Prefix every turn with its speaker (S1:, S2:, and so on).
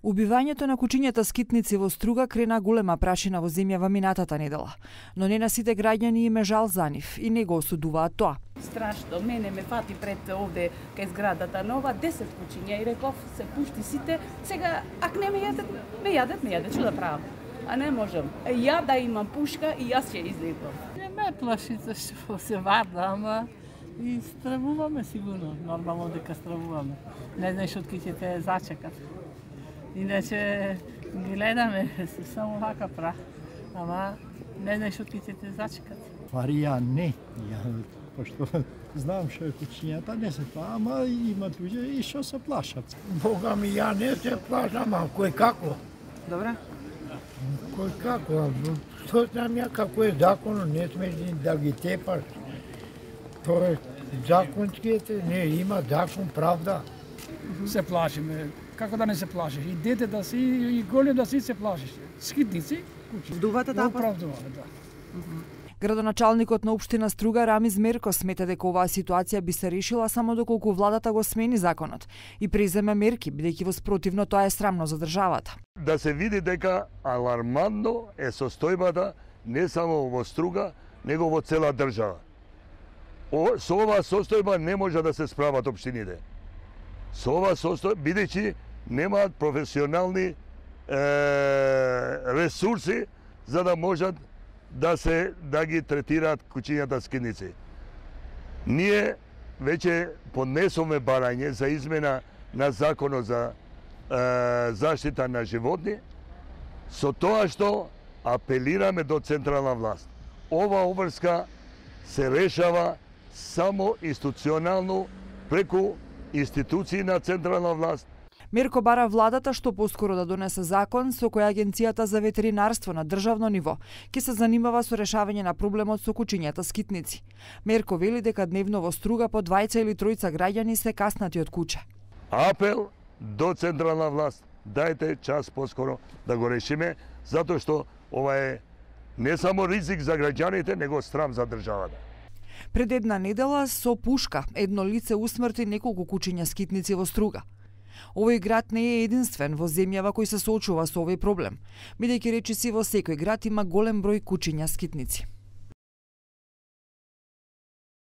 S1: Убивањето на кучињата скитници во Струга крена голема прашина во земјава минатата недела, но не на сите граѓани им е жал за нив и не го осудуваат тоа.
S2: Страшно, мене ме фати пред овде кај зградата нова 10 кучиња и реков се пушти сите, сега ако не ме јадат, што да правам? А не можам. Ја да имам пушка и јас ќе излетам.
S3: Не ме плаши зашто се варда, ама и стравуваме сигурно, нормално дека стравуваме. Не знаеш од ќе те зачекат. Иначе гледаме се само вака пра, ама не знаеш од ќе те зачекат.
S4: Фарија не, пошто знам што е кучињата, не се тоа, ама има луѓе и што се плашат.
S5: Бога ми, ја не се плашам, а кој како?
S1: Добре.
S5: Кој како? Што знам ја како е законот, не смеш да ги тепаш. Тоа е законскијете, не, има закон, правда.
S6: Се плашиме. Како да не се плашиш? И дете да си, и голем да си се плашиш. Скитници, кучи.
S1: Дувате таа?
S6: Оправдуваме, да.
S1: Градоначалникот на општина Струга Рамиз Мерко смета дека оваа ситуација би се решила само доколку владата го смени законот и преземе мерки, бидејќи во спротивно тоа е срамно за државата.
S7: Да се види дека алармантно е состојбата не само во Струга, него во цела држава. Со оваа состојба не може да се справат општините. Со оваа состојба, бидејќи немаат професионални ресурси за да можат да ги третираат кучињата скитници. Ние веќе поднесоме барање за измена на законот за заштита на животни, со тоа што апелираме до централна власт. Ова обврска се решава само институционално преку институции на централна власт.
S1: Мерко бара владата што поскоро да донесе закон со кој Агенцијата за ветеринарство на државно ниво ќе се занимава со решавање на проблемот со кучињата скитници. Мерко вели дека дневно во Струга по 2 или 3 граѓани се каснати од куче.
S7: Апел до централна власт, дајте час поскоро да го решиме, затоа што ова е не само ризик за граѓаните, него срам за државата.
S1: Пред една недела со пушка едно лице усмрти неколку кучиња скитници во Струга. Овој град не е единствен во земјава кој се соочува со овој проблем, бидејќи речиси во секој град има голем број кучиња скитници.